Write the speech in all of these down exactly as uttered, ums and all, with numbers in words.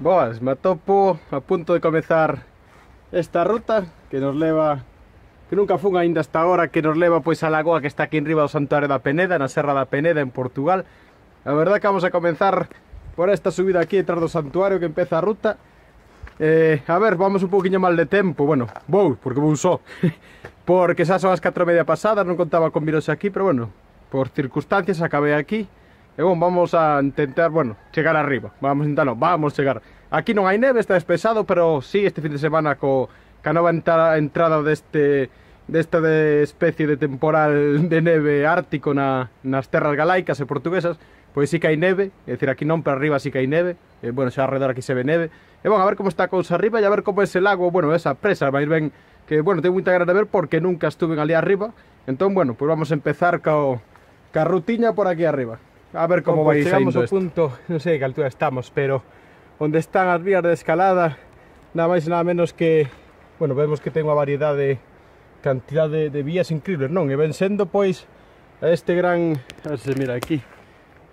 Boas, me atopo a punto de comezar esta ruta que nos leva, que nunca fun aínda hasta agora, que nos leva pois a lagoa que está aquí en riba do Santuario da Peneda, na Serra da Peneda, en Portugal. A verdade que vamos a comenzar por esta subida aquí detrás do santuario que empeza a ruta. Eh, a ver, vamos un poquinho mal de tempo, bueno, vou, porque vou só, porque xa son as catro e media pasadas, non contaba con viros aquí, pero bueno, por circunstancias acabei aquí. E bon, vamos a intentar, bueno, chegar arriba. Vamos a intentar, non, vamos chegar. Aquí non hai neve, está despexado, pero sí, este fin de semana co, ca nova entrada, entrada deste desta de especie de temporal de neve ártico na, nas terras galaicas e portuguesas, pois sí que hai neve, é dicir, aquí non, pero arriba sí que hai neve, e, bueno, xa alrededor aquí se ve neve. E bon, a ver como está a cousa arriba e a ver como é ese lago, bueno, esa presa, máis ben, que, bueno, tengo moita gana de ver porque nunca estuve ali arriba. Entón, bueno, pois vamos a empezar co, ca rutiña por aquí arriba. A ver como vai saindo isto. Chegamos ao punto, non sei que altura estamos, pero onde están as vías de escalada, nada máis e nada menos que, bueno, vemos que ten unha variedade, cantidade de, de vías increíbles, non? E ven sendo, pois, a este gran, a ver se mira aquí,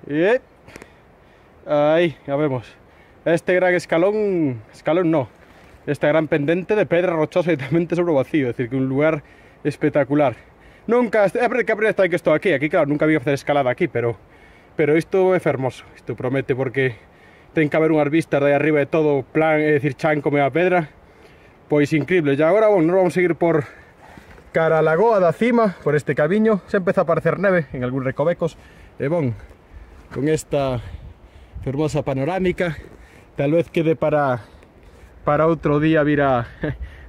e aí, ya vemos, este gran escalón, escalón no, esta gran pendente de pedra rochosa directamente sobre o vacío, é dicir, que un lugar espectacular. Nunca, é que a primeira vez que estou aquí, aquí claro, nunca vi facer escalada aquí, pero pero isto é fermoso, isto promete porque ten que haber unhas vistas de aí arriba de todo plan, é dicir, chan como a pedra, pois increíble. E agora, bueno, nos vamos a seguir por cara a lagoa da cima, por este camiño, xa empeza a aparecer neve en algúns recovecos, e bon, con esta fermosa panorámica, tal vez quede para para outro día vir a,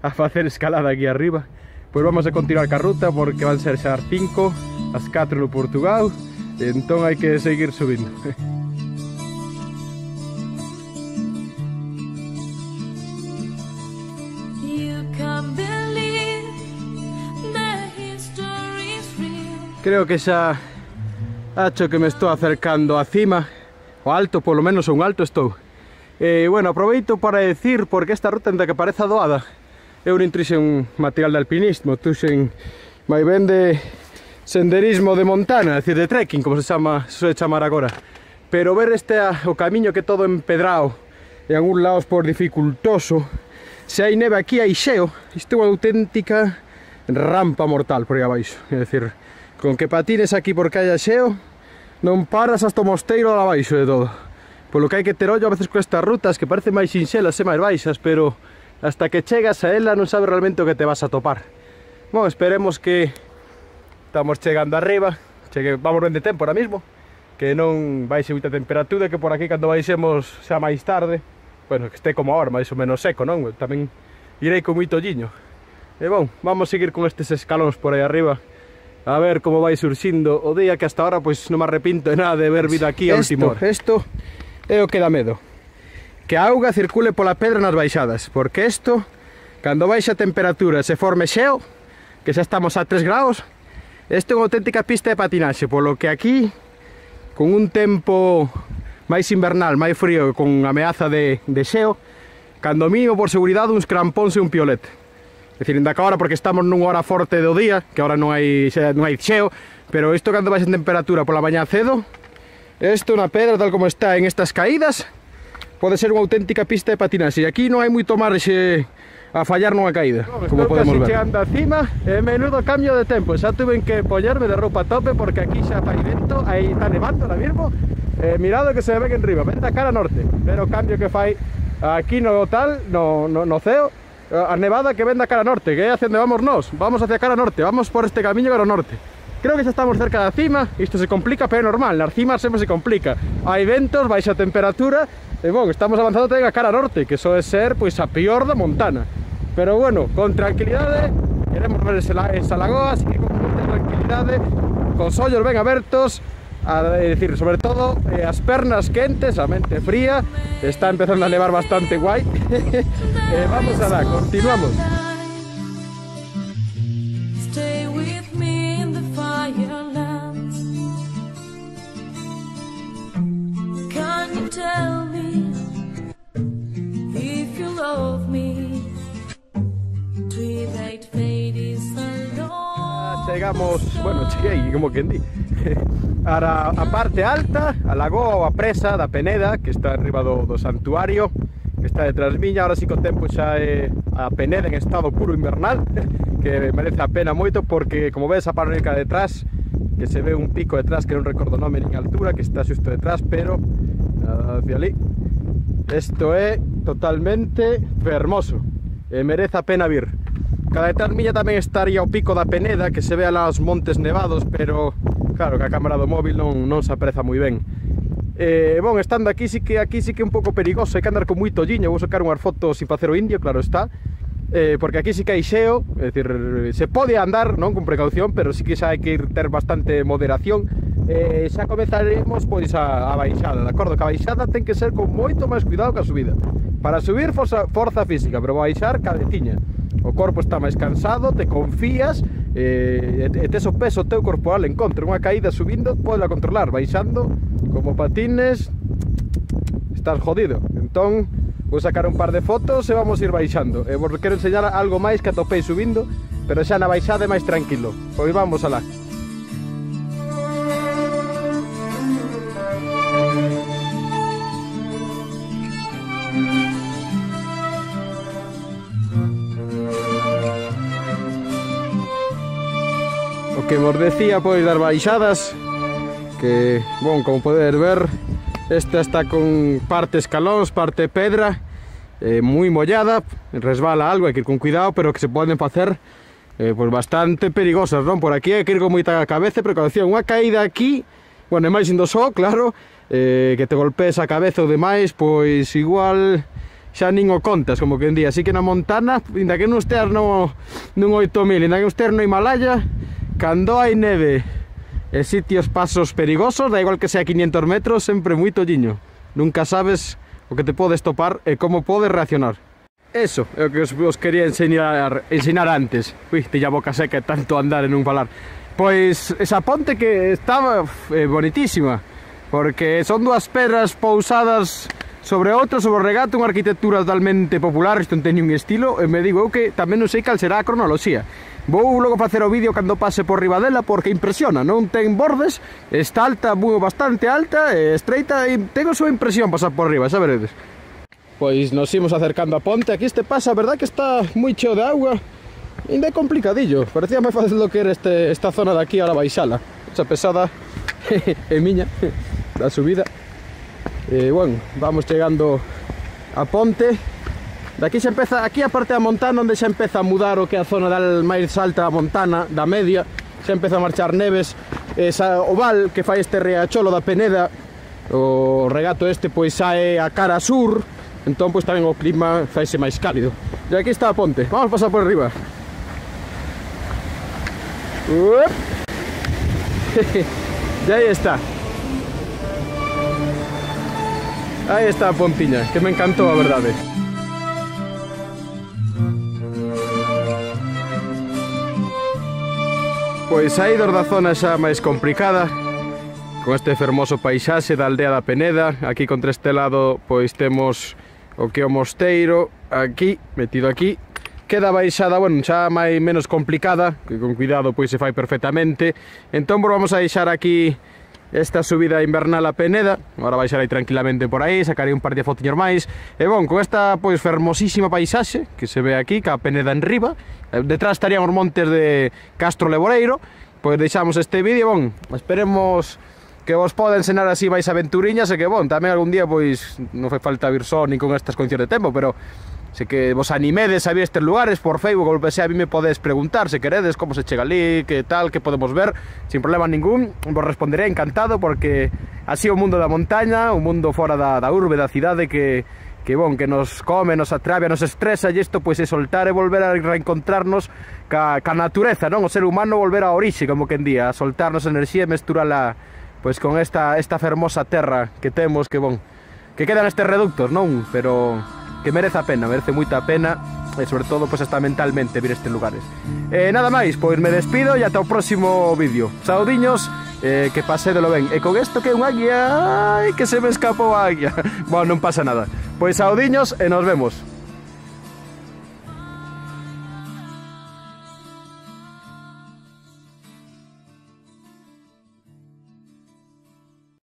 a facer escalada aquí arriba. Pois vamos a continuar ca ruta porque van ser xa as cinco, as catro no Portugal, e entón hai que seguir subindo. Creo que xa acho que me estou acercando á cima, o alto, polo menos un alto estou. E, bueno, aproveito para decir, porque esta ruta, ainda que pareza doada, eu non trixen material de alpinismo, trixen máis ben de senderismo de montana, é dicir, de trekking, como se chama, se suele chamar agora. Pero ver este o camiño que todo empedrado, e en algún lados por dificultoso, se hai neve aquí, hai xeo, isto é unha auténtica rampa mortal por aí abaixo, é dicir, con que patines aquí porque hai xeo, non paras hasta o mosteiro lá abaixo de todo. Polo que hai que ter ollo a veces con estas rutas que parecen máis sinxelas e máis baixas, pero hasta que chegas a ela non sabes realmente o que te vas a topar. Bueno, esperemos que estamos chegando arriba, chegue, vamos ben de tempo ahora mismo, que non baixe moita temperatura, que por aquí cando baixemos xa máis tarde, bueno, que este como ahora, máis ou menos seco, non? Tamén irei con moito olliño. E bon, vamos seguir con estes escalóns por aí arriba, a ver como vai surxindo o día, que hasta ahora pois non me arrepinto de nada de ver vida aquí a última hora. Isto é o que dá medo, que a auga circule pola pedra nas baixadas, porque isto, cando baixa a temperatura se forme xeo, que xa estamos a tres graus, isto é unha auténtica pista de patinaxe, polo que aquí, con un tempo máis invernal, máis frío, con ameaza de, de xeo, cando mínimo por seguridade uns crampóns e un piolete. É dicir, ainda que ahora, porque estamos nunha hora forte do día, que ahora non hai, non hai xeo, pero isto cando baixa a temperatura pola mañá cedo, isto na pedra tal como está en estas caídas, pode ser unha auténtica pista de patinaxe, e aquí non hai moito marxe a fallar nunha caída, no, como podemos ver. Estou casi chegando a cima, e menudo cambio de tempo, xa tuve que poñerme de roupa a tope porque aquí xa fai vento, aí está nevando ahora mismo, e mirado que se ve que en riba, ven da cara norte, pero o cambio que fai aquí no tal, no, no, no ceo, a nevada que ven da cara norte, que é hacia onde vamos nós, vamos hacia cara norte, vamos por este camiño cara norte. Creo que xa estamos cerca da cima, isto se complica, pero é normal, nas cimas sempre se complica. Hai ventos, baixa temperatura, e bon, estamos avanzando tamén a cara norte, que soe ser, pois, a pior da montana. Pero bueno, con tranquilidade, queremos ver esa lagoa, así que con moita tranquilidade, cos ollos ben abertos, a decir, sobre todo, eh, as pernas quentes, a mente fría, está empezando a nevar bastante guai. eh, vamos a dar, continuamos. Chegamos, bueno, cheguei, como quen di, a, a parte alta, a lagoa ou a presa da Peneda, que está arriba do, do santuario, está detrás miña. Ahora sí que o tempo xa é a Peneda en estado puro invernal, que merece a pena moito, porque como ves a panorámica detrás, que se ve un pico detrás que non recordo o nome nin altura, que está xusto detrás, pero hacia ali, isto é totalmente fermoso e merece a pena vir. Cada detrás miña tamén estaría o pico da Peneda, que se ve lá os montes nevados, pero claro que a cámara do móvil non, non se apreza moi ben. Eh, bon, estando aquí sí que aquí sí que é un pouco perigoso, hai que andar con moito olliño. Vou sacar unhas fotos sin facer o indio, claro está, eh, porque aquí sí que hai xeo, é dicir, se pode andar, non, con precaución, pero sí que xa hai que ir ter bastante moderación. Eh, xa comezaremos pois a, a baixada, de acordo? Que a baixada ten que ser con moito máis cuidado que a subida. Para subir forza, forza física, pero baixar cabeciña. O corpo está máis cansado, te confías, eh, e tes o peso teu corporal en contra. Unha caída subindo podes controlar, baixando como patines estás jodido. Entón vou sacar un par de fotos e vamos ir baixando. E vos quero enseñar algo máis que atopei subindo, pero xa na baixada é máis tranquilo. Pois vamos alá. O que vos decía, pois, das baixadas, que, bon, como podedes ver, esta está con parte escalóns, parte pedra, eh, moi mollada, resbala algo, hai que ir con cuidado, pero que se poden facer eh, pois bastante perigosas, non? Por aquí hai que ir con moita cabeza e precaución. Unha caída aquí, bueno, é máis indo só, claro, eh, que te golpees a cabeza ou demais, pois igual xa nin o contas, como que en día. Así que na Montana, inda que non esteas no, nun oito mil, inda que non esteas no Himalaya, cando hai neve e sitios pasos perigosos, da igual que sea quinientos metros, sempre moito olliño. Nunca sabes o que te podes topar e como podes reaccionar. Eso é o que os, os quería enseñar, enseñar antes. Ui, te a boca seca e tanto andar e non falar. Pois esa ponte que estaba eh, bonitísima, porque son dúas pedras pousadas sobre outro, sobre o regato, unha arquitectura totalmente popular, isto non ten un estilo, e me digo eu que tamén non sei cal será a cronoloxía. Vou logo facer o vídeo cando pase por riba dela, porque impresiona, non ten bordes, está alta, moi bastante alta, e estreita, e tengo a súa impresión pasar por riba, xa veredes. Pois nos imos acercando a ponte. Aquí este pasa, a verdad que está moi cheo de auga, ainda é complicadillo, parecía máis fácil do que era este, esta zona de aquí, ahora baixala, esa pesada é miña, da subida. E, bueno, vamos chegando a ponte. De aquí xa empeza, aquí a parte da montana onde xa empeza a mudar o que é a zona da máis alta da montana, da media, xa empeza a marchar neves. Esa, o val que fai este riacholo da Peneda, o regato este pois sae a cara sur, entón pois tamén o clima faise máis cálido. E aquí está a ponte, vamos a pasar por arriba. E aí está. Aí está a pontiña, que me encantou, a verdade. Pois saídos da zona xa máis complicada, con este fermoso paisaxe da aldea da Peneda. Aquí contra este lado pois temos o que é o mosteiro, aquí, metido aquí. Queda baixada, bueno, xa máis menos complicada, que con cuidado pois se fai perfectamente. Entón vamos a deixar aquí esta subida invernal a Peneda. Agora baixarei tranquilamente por aí, sacarei un par de fotiños máis. E bon, con esta pois fermosísima paisaxe que se ve aquí, que a Peneda en riba, detrás estarían os montes de Castro Leboreiro. Pois deixamos este vídeo, bon, esperemos que vos poda enseñar así máis aventuriñas, e que bon, tamén algún día pois non fai falta vir só nin con estas condicións de tempo, pero se que vos animedes a vir estes lugares por Facebook ou se a mí me podes preguntar se queredes como se chega ali, que tal, que podemos ver, sin problema ningún, vos responderé encantado, porque así o mundo da montaña, un mundo fora da, da urbe, da cidade, que, que bon, que nos come, nos atrabia, nos estresa, e isto pois é soltar e volver a reencontrarnos ca, ca natureza, non? O ser humano volver a orixe, como que en día, a soltarnos enerxía e mesturala pois con esta, esta fermosa terra que temos, que bon, que quedan estes reductos, non? Pero que merece a pena, merece moita pena, e sobre todo pois hasta mentalmente vir estes lugares. E nada máis, pois me despido e ata o próximo vídeo. Saudiños, eh, que pasédelo ben. E con isto que é un águia, ai, que se me escapou a águia. Bueno, non pasa nada. Pois saudiños e nos vemos.